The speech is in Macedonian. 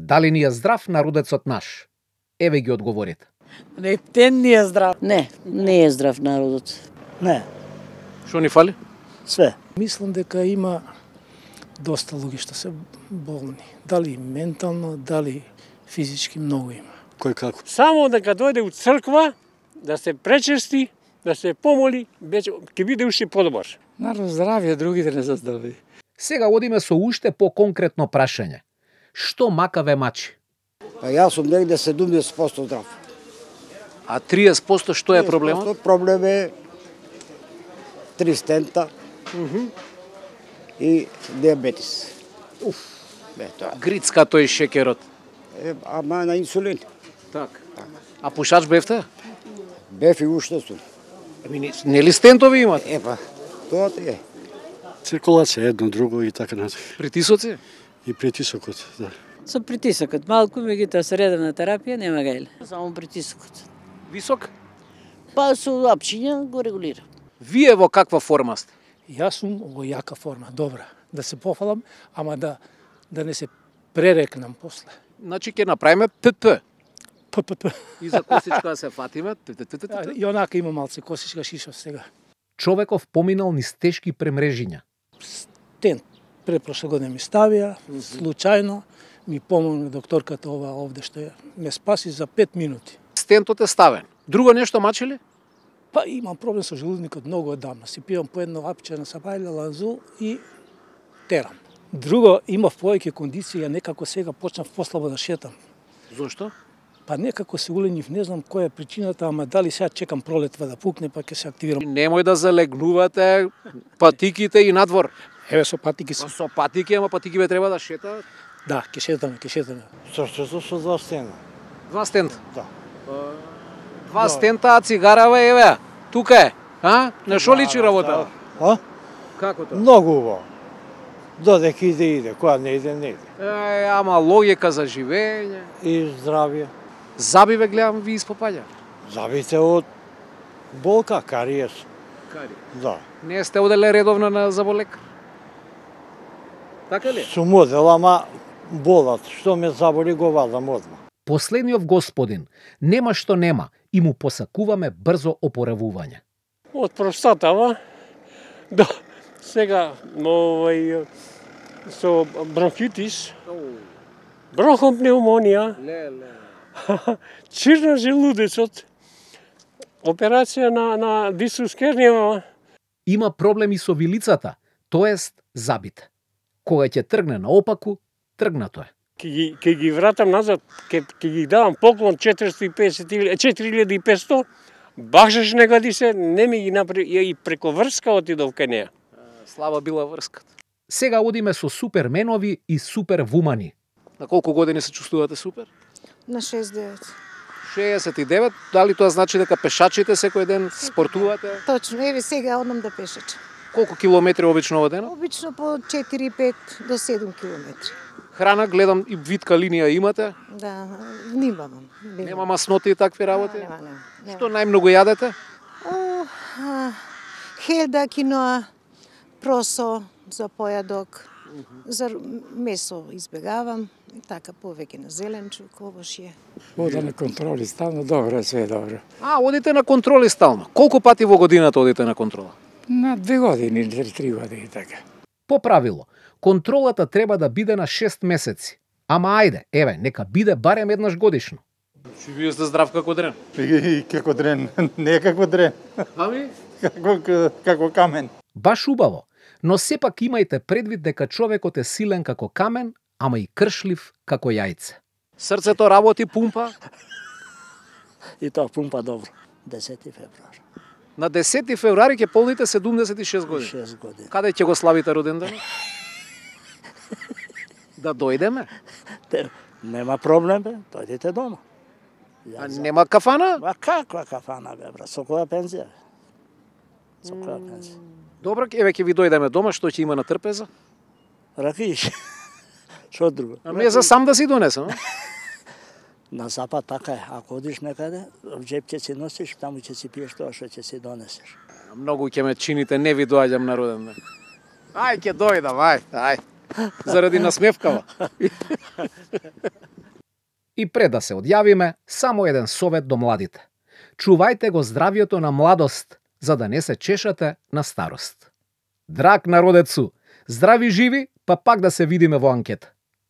Дали ни е здрав народецот наш? Еве ги одговорите. Рептен ни е здрав. Не е здрав народот. Не, Што ни фали? све. Мислам дека има доста луѓе што се болни. Дали ментално, дали физички, многу има. Кој како? Само дека дојде у црква, да се пречести, да се помоли, ќе биде уште подобар. Народ здравје, другите не се здрави. Сега одиме со уште по-конкретно прашање. Што мака ве мачи? Па јас сум негде 70% здрав. А 30% што е проблемот? Проблем е 3 стента и диабетис. Грицкато и шекерот. Ама на инсулин. Так. А пушач бевте? Бев и уште сум. Нели стентови имат? Епа, тоа ти е. Циркулација едно друго и така натаму. Притисоци? И притисокот, да. Со притисокот, малку меѓутоа средна терапија нема гајле. Само притисокот. Висок? Па со апчиња го регулира. Вие во каква форма сте? Јас сум во јака форма, добра. Да се пофалам, ама да не се пререкнам после. Значи ќе направиме ПП. ППП. И за косичка се фатиме. И онака има малце косичка шишов сега. Човеков поминал низ тешки премрежиња. Стент препрошле година ми ставија, случајно ми помогна докторката ова овде што ме спаси за 5 минути. Стентот е ставен. Друго нешто мачи ли? Па имам проблем со желудникот многу одамна. Си пијам по едно апче на сабајле, ланзул и терам. Друго, имав повеќе кондиција, некако сега почнав послабо да шетам. Зошто? Па некако се уленив, не знам која е причината, ама дали сега чекам пролетва да пукне, па ќе се активирам. Немој да залегнувате патиките и надвор. Еве со патики се. Со патики, ама патики ве треба да шетаат. Да, ќе шетаме. Срцето со 2 стена. 2 стента. Да. 2 стента, а цигарава еве. Тука е. А? На шо личи работа? А? Како тоа? Многу убаво. Додека иде, кога не иде, не иде. Ама логика за живење. И здравје. Заби ве гледам ви испопаѓа. Забите од болка, кариес. Кари. Да. Не сте оделе редовно на заболекар? Така ли? Сум одел, ама болат. Што ме заболи, го вадам одма. Последниот господин нема што нема и му посакуваме брзо опоравување. Од простатава до сега со бронхитис, бронхопневмонија, чир на желудецот, операција на дисус керниева. Има проблеми со вилицата, тоест забите. Кога ќе тргне наопаку, тргнато е. Ќе ги вратам назад, ќе ги давам поклон 4500, бакшаш негади се, не ми ги направи, и преко врска отидов кај неа. Слаба била врската. Сега одиме со суперменови и супервумани. На колку години се чувствувате супер? На 69. 69. Дали тоа значи дека пешачите секој ден спортувате? Точно, еве сега одам да пешачам. Колку километри обично во денот? Обично по 4-5 до 7 километри. Храна, гледам и витка линија имате. Да, внимавам. Нема масноти и такви работи? Нема. Што најмногу јадете? Хелда, киноа, просо за појадок. За месо избегавам, така повеќе на зеленчук, овошје. Одам на контроли, стално добро, све добро. А, одите на контроли стално. Колку пати во годината одите на контрола? На 2 години, 3 години, така. По правило, контролата треба да биде на 6 месеци. Ама ајде, еве, нека биде барем еднаш годишно. Чи вие сте здрав како дрен? И како дрен, не како дрен. Ами? Како камен. Баш убаво, но сепак имајте предвид дека човекот е силен како камен, ама и кршлив како јајце. Срцето работи, пумпа? И тоа пумпа добро. 10 февруари. На 10 февруари ќе полните 76 години. 6 години. Каде ќе го славите роденденот? Да дојдеме? Нема проблем, бе. Дојдете дома. А нема кафана? А каква кафана, бе, брат? Со која пензија? Со која пензија? Добро, еве ќе ви дојдеме дома, што ќе има на трпеза? Ракиш. Што друго? Ами е за сам да си донесам. На запад така е. Ако одиш некаде, в джеп ќе си носиш, таму ќе си пиеш тоа што ќе си донесеш. Многу ќе ме чините, не ви доаѓам на роденден. Ај, ќе дојдам, ај. Заради насмевкава. И пред да се одјавиме, само еден совет до младите. Чувајте го здравието на младост, за да не се чешате на старост. Драг народецу, здрави живи, па пак да се видиме во анкета.